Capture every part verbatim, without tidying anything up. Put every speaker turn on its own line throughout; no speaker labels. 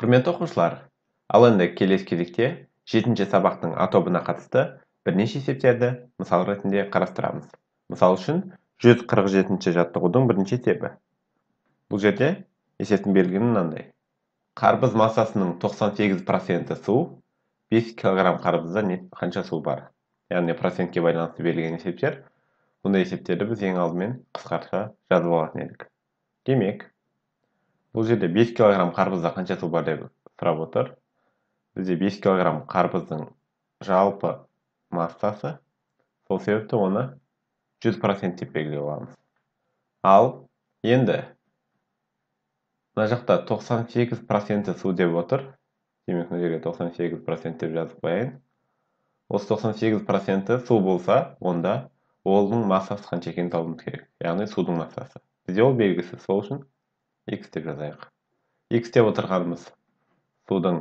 Құрметті оқушылар, ал енді келесі кезекте жетінші сабақтың А тобына қатысты бірнеше есептерді мысал ретінде қарастырамыз. Мысал үшін жүз қырық жетінші жаттығудың бірінші есебі. Бұл жерде есептің берілгені мынандай. Қарбыз массасының тоқсан сегіз проценті су, бес килограмм қарбызда қанша су бар? Яғни процентке байланысты берілген есептер. Бұндай есептерді біз ең алдымен қысқаша жазып алатын едік. Демек, бұл жерде бес килограмм қарбызда қанша су бар деп сұрап отыр. Бізде бес килограмм қарбыздың жалпы массасы, сол себепті оны жүз процент деп белгілей аламыз. Ал енді мына жақта тоқсан сегіз проценті су деп отыр. Демек, мына жерге тоқсан сегіз процент деп жазып қояйын. Осы тоқсан сегіз проценті су болса, онда оның массасы қанша екенін табуымыз керек. Яғни судың массасы. Бізде ол белгісіз, сол үшін X деп жазайық. X деп отырғанымыз судың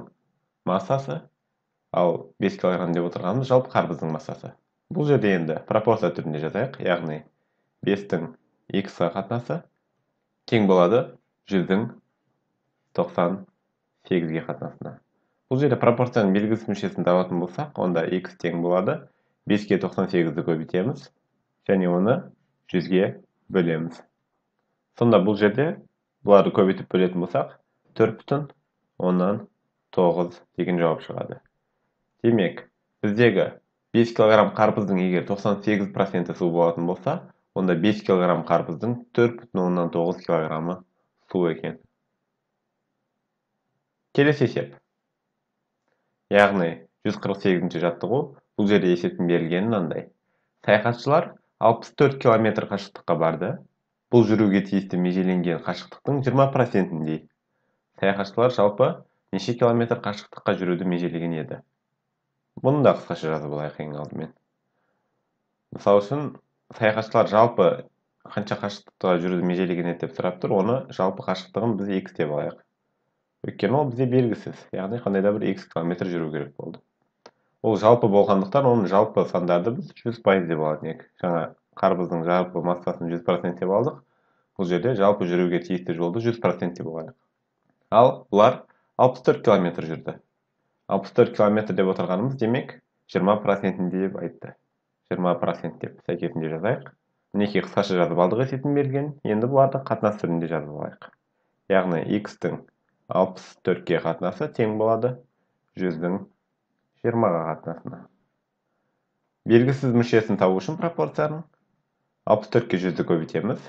массасы, ал бес килограмм деп отырғанымыз жалпы қарбыздың массасы. Бұл жерде енді пропорция түрінде жазайық, яғни бестің X-ға қатынасы тең болады жүздің тоқсан сегізге қатынасына. Бұл жерде пропорцияның белгісіз мүшесін табатын болсақ, онда X тең болады беске тоқсан сегізді көбейтеміз, және оны жүзге бөлеміз. Сонда бұл жерде бұларды көбейтіп бөлетін болсақ, төрт бүтін оннан тоғыз деген жауап шығады. Демек, біздегі бес килограмм қарбыздың егер тоқсан сегіз проценті су болатын болса, онда бес килограмм қарбыздың төрт бүтін оннан тоғыз килограммы су екен. Келесі есеп. Яғни жүз қырық сегізінші жаттығу, бұл жерде есептің берілгені мынандай. Саяхатшылар алпыс төрт километр қашықтыққа барды. Бұл жүруге тиісті межеленген қашықтықтың жиырма процентіндей. Саяхатшылар жалпы неше километр қашықтыққа жүруді межелеген еді? Бұны да қысқаша жазып алайық ең алдымен. Мысалы үшін, саяхатшылар жалпы қанша қашықтыққа жүруді межелеген еді деп сұрап тұр, оны жалпы қашықтығын біз X деп алайық. Өйткені ол бізде белгісіз, яғни қандай да бір X километр жүру керек болды. Ол жалпы болғандықтан, оның жалпы сандарды біз жүз пайыз деп алатын едік. Жаңа қарбыздың жалпы массасын жүз процент деп алдық. Бұл жерде жалпы жүруге тиісті жолды жүз процент деп алайық. Ал бұлар алпыс төрт километр жүрді. алпыс төрт километр деп отырғанымыз демек жиырма процентінде деп айтты. жиырма процент деп сәйкесінде жазайық. Мінекей қысқаша жазып алдық есептің берілгенін. Енді бұларды қатынас түрінде жазып алайық. Яғни X-тің алпыс төртке қатынасы тең болады жүздің жиырмаға қатынасына. Белгісіз мүшесін табу үшін пропорцияның алпыс төртке жүзді көбейтеміз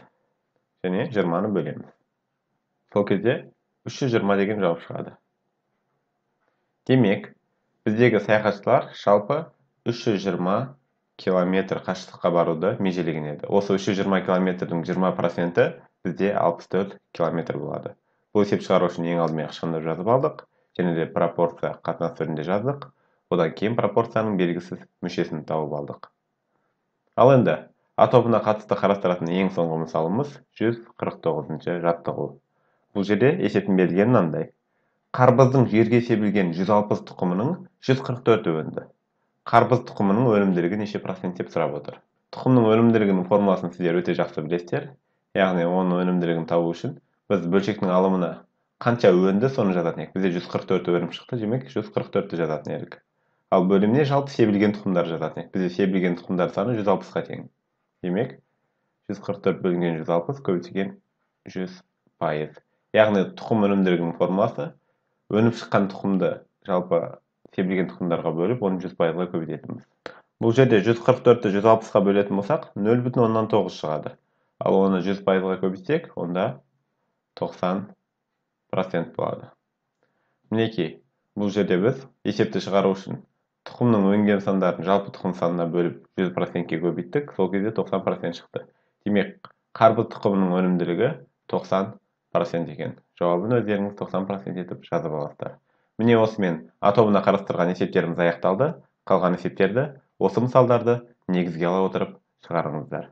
және жиырманы бөлеміз. Сол кезде үш жүз жиырма деген жауап шығады. Демек, біздегі саяхатшылар жалпы үш жүз жиырма километр қашықтыққа баруды межелеген еді. Осы үш жүз жиырма километрдің жиырма проценті бізде алпыс төрт километр болады. Бұл есеп шығару үшін ең алдымен ықшамдап жазып алдық, және де пропорция қатынас түрінде жаздық. Одан кейін пропорцияның белгісіз мүшесін тауып алдық. Ал енді А тобына қатысты қарастыратын ең соңғы мысалымыз жүз қырық тоғызыншы жаттығу. Бұл жерде есептің берілгені мынандай. Қарбыздың жерге себілген жүз алпыс тұқымының жүз қырық төрті өнді. Қарбыз тұқымының өнімділігі неше процент деп сұрап отыр. Тұқымның өнімділігінің формуласын сіздер өте жақсы білесіздер. Яғни оның өнімділігін табу үшін біз бөлшектің алымына қанша өнді, соны жазатын едік. Бізде жүз қырық төрт өнім шықты, демек жүз қырық төртті жазатын едік. Ал бөліміне жалпы себілген тұқымдар жазатын едік. Бізде себілген тұқымдар саны жүз алпысқа тең. Демек, жүз қырық төрт бөлінген жүз алпыс көбейтілген жүз пайыз. Яғни тұқым өнімділігінің формуласы өніп шыққан тұқымды жалпы себілген тұқымдарға бөліп, оны жүз пайызға көбейтетінбіз. Бұл жерде жүз қырық төртті жүз алпысқа бөлетін болсақ, нөл бүтін оннан тоғыз шығады. Ал оны жүз пайызға көбейтсек, онда тоқсан процент болады. Мінекей, бұл жерде біз есепті шығару үшін тұқымның өнген сандарын жалпы тұқым санына бөліп жүз процентке көбейттік, сол кезде тоқсан процент шықты. Демек, қарбыз тұқымының өнімділігі тоқсан процент екен. Жауабын өздеріңіз тоқсан процент етіп жазып аласыздар. Міне осымен А тобына қарастырған есептеріміз аяқталды. Қалған есептерді осы мысалдарды негізге ала отырып шығарыңыздар.